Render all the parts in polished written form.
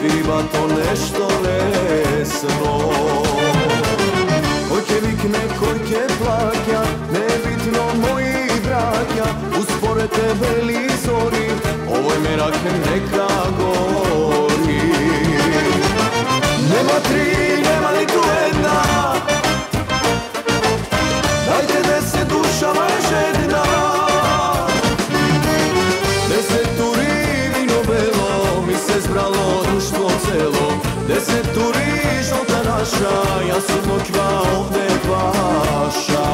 свирибато нешто лесно. Кој ќе викне, кој ќе плаќа, небитно мои браќа, успоред тебе ли зори, овој мерак нека гори. Нема три, нема ниту една, дајте 10 душава е жедна. 10 тури вино бело, ми се збрало друштво цело. 10 тури жолта наша, јас сум ноќва овде ваша.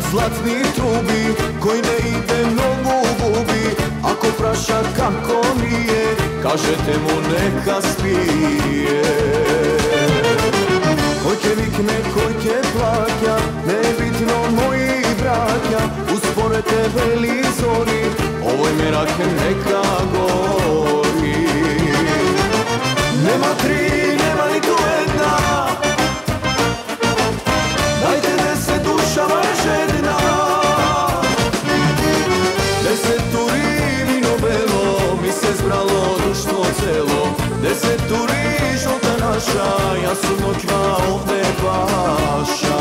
Златни труби, кој не иде многу губи. Ако праша како ми е, кажете му нека спие. Кој ќе викне, кој ќе плаќа, небитно мои браќа, успоред тебе ли зори, овој мерак нека гори. Нема три, нема ниту една, дајте 10 душава е жедна. 10 тури вино бело, ми се збрало друштво цело. 10 тури жолта наша, јас сум ноќва овде ваша.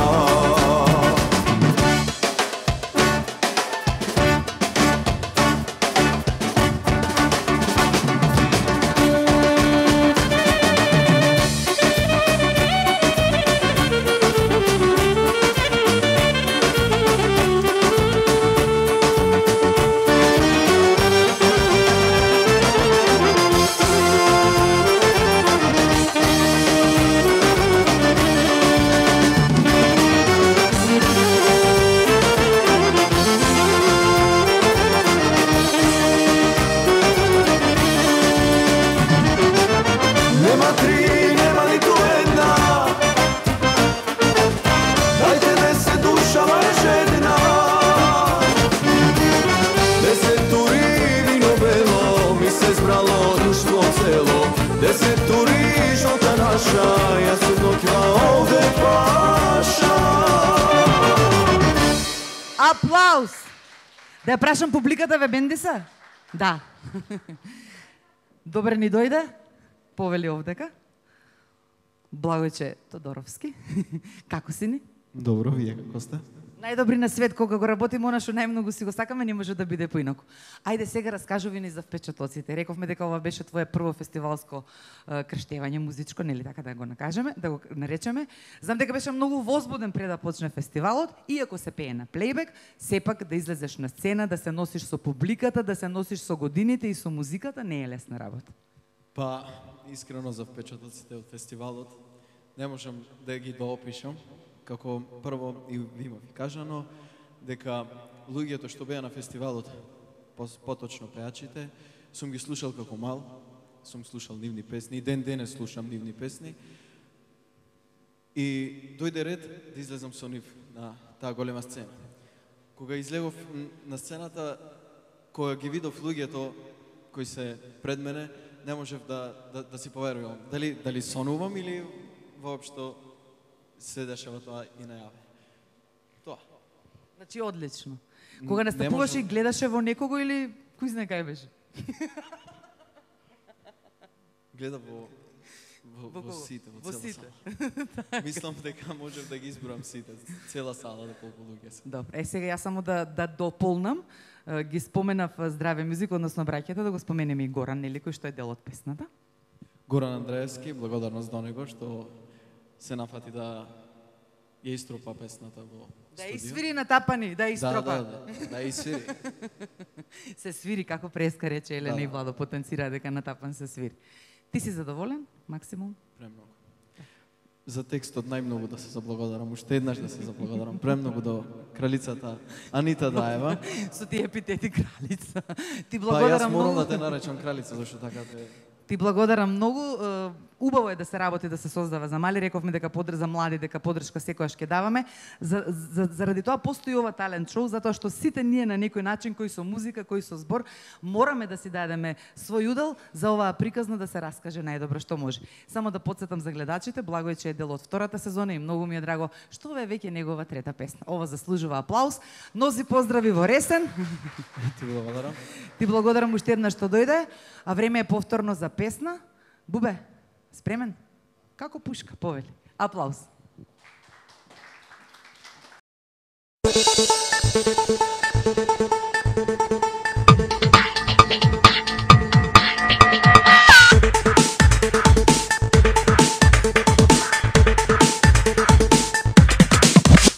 Аплауз! Да ја прашам публиката, ве бенди се? Да. Добре ни дојде, повели овдека. Благојче Тодоровски. Како си ни? Добро, вие како сте? Најдобри на свет, кога го работиме она што најмногу си го сакаме, не може да биде поинаку. Ајде сега раскажуви ни за впечатоците. Рековме дека ова беше твое прво фестивалско крштевање музичко, нели така да го накажеме, да го наречеме. Знам дека беше многу возбуден пред да почне фестивалот, иако се пее на плейбек, сепак да излезеш на сцена, да се носиш со публиката, да се носиш со годините и со музиката, не е лесна работа. Па, искрено за впечатоците од фестивалот, не можам да ги доопишам. Како прво и ви кажано, дека луѓето што беа на фестивалот, поточно пеачите, сум ги слушал како мал, сум слушал нивни песни, и ден денес слушам нивни песни. И дојде ред да излезам со нив на таа голема сцена. Кога излегов на сцената, кога ги видов луѓето кои се пред мене, не можев да си поверувам. Дали сонувам или воопшто се дешава тоа и најаве. Тоа. Значи, одлично. Кога настапуваше и гледаше во некого или кој знае кај беше? Гледа во сите, во цела сала. Мислам дека можев да ги изборам сите, цела сала да колку луѓе се. Добре, сега јас само да дополнам. Ги споменав Здраве музик, односно браќата, да го споменеме и Горан, нели, кој што е дел од песната. Горан Андреевски, благодарност до него што се нафати да ја истропа песната во студио. Да изсвири на тапани, да истропа. Да изсвири. Се свири, како преска рече Елена и Владо, потенцира дека на тапан се свири. Ти си задоволен, максимум? Премногу. За текстот најмногу да се заблагодарам, уште еднаш да се заблагодарам. Премногу до кралицата Анита Даева. Со тие епитети кралица. Ти Па благодарам јас морам многу. да те наречам кралица, зашто така те... Ти благодарам многу. Убаво е да се работи, да се создава за мали, рековме дека за млади, дека поддршка секојаш ќе даваме. Заради тоа постои ова талент шоу, затоа што сите ние на некој начин, кои со музика, кои со збор, мораме да си дадеме свој удел за оваа приказна да се раскаже најдобро што може. Само да потсетам за гледачите, благо е че е дел од втората сезона и многу ми е драго што ова е веќе негова трета песна. Ова заслужува аплауз. Носи поздрави во Ресен. Ти благодарам. Ти благодарам уште еднаш што дојде, а време е повторно за песна. Бубе, спремен? Како пушка, повели. Аплауз.